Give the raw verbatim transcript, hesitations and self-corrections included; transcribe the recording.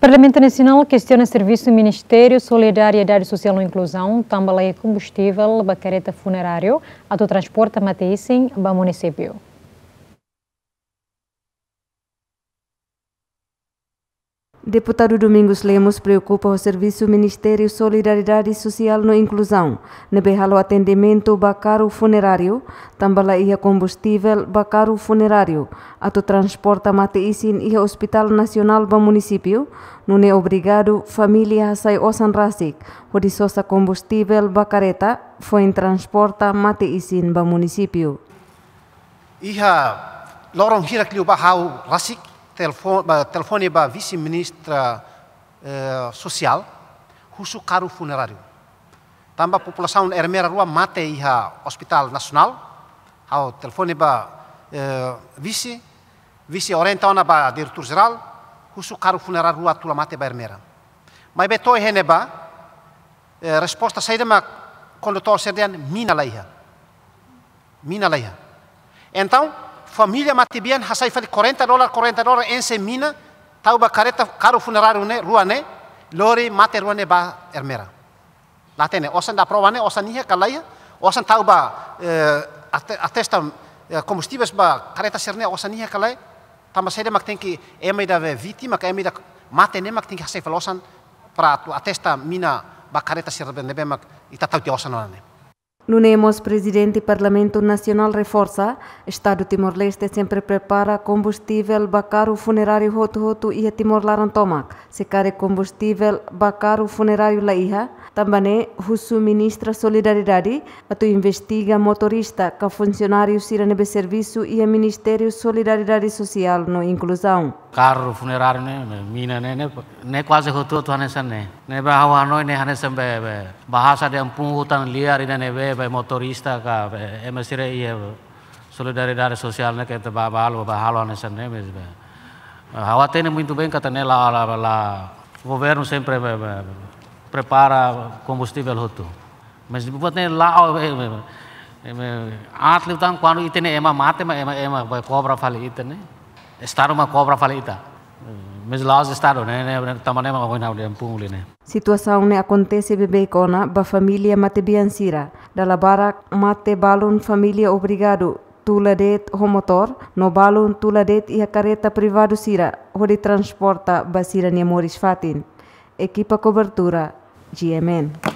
Parlamentu Nasionál kestiona servisu Ministériu Solidariedade Sosiál no Inkluzaun, tanba la iha kombustivel ba kareta funeráriu atu transporta mate-isin ba munisípiu. Deputadu Domingos Lemos preokupa ho servisu Ministériu Solidariedade Sosiál no Inkluzaun, ne'ebé halo atendimentu ba karru funeráriu, tanba la iha kombustivel ba karru funeráriu atu transporta mate-isin iha Hospitál Nasionál ba munisípiu, nune'e obrigadu família hasai osan rasik hodi sosa kombustivel ba kareta foin transporta mate-isin ba munisípiu. Iha loron hirak liubá ha'u rasik telefo-, ba, telefone ba vise-ministra, eh, sosiál, husu karru funeráriu. Tanba populasaun Ermera rua mate iha Hospitál Nasionál, ha'u telefone ba, eh, vise, vise orienta ona ba diretór jerál, husu karru funeráriu rua tula mate ba Ermera. Maibé to'o iha ne'ebá, eh, resposta saida mak kondutór sira dehan mina la iha. Mina la iha. Entaun, família matebian hasai fali quarenta dólar, quarenta dólar enxe mina, tau ba kareta, karru funeráriu ne'e, rua ne'e, lori mate rua ne'e ba Ermera. La hatene, osan da prova ne'e, osan iha ka la iha, osan tau ba, eh, ate-, atesta, eh, kombustivel ba kareta sira ne'e, osan iha ka la iha, tanba saida mak tenke ema ida be vítima, ka ema ida mate ne'e mak tenke hasai fali osan para atu atesta mina ba kareta sira be ne'ebé mak ita tau tiha osan ona ne'e. Nune'e mós Prezidente Parlamentu Nasionál reforsa, Estadu Timor-Leste sempre prepara kombustivel ba karru funeráriu hotu-hotu iha Timor laran tomak. Se karik kombustivel ba karru funeráriu la iha, tanba ne'e husu Ministra Solidariedade atu investiga motorista ka funsionáriu sira ne'ebé servisu iha Ministériu Solidariedade Sosiál no Inkluzaun. Karru funeráriu ne'e, ne'e, mina ne'e, ne'e, ne'e kuaze hotu-hotu hanesan ne'e. Ne'ebé ha'u hanoin ne'e hanesan be, be, bahasa de ampun hutan liar ida ne'ebé, be, motorista ka, be, ema sira iha Solidariedade Sosiál ne'e ke te ba, ba halo, ba halo hanesan ne'e, be, be. Ha'u hatene muito bem katak ne'e la, la, la, governu sempre, be, be, prepara kombustivel hotu. Mas buat ne'e la'o, eh, eh, eh, eh, aat liután kuandu ita-nia ema mate, mak ema, ema bai kobra fali ita ne'e. Estadu mak kobra fali ita. Mas la'ós Estadu ne'e, ne'e, ne'e, tanba ne'e mak ohin ha'u dehan pungli ne'e. Situasaun ne'e akontese beibeik ona ba família matebian sira. Dala barak mate balun família obrigadu tula de'it ho motór, no balun tula de'it iha kareta privadu sira, hodi transporta ba sira-nia moris fatin. Ekipa kobertura, G M N.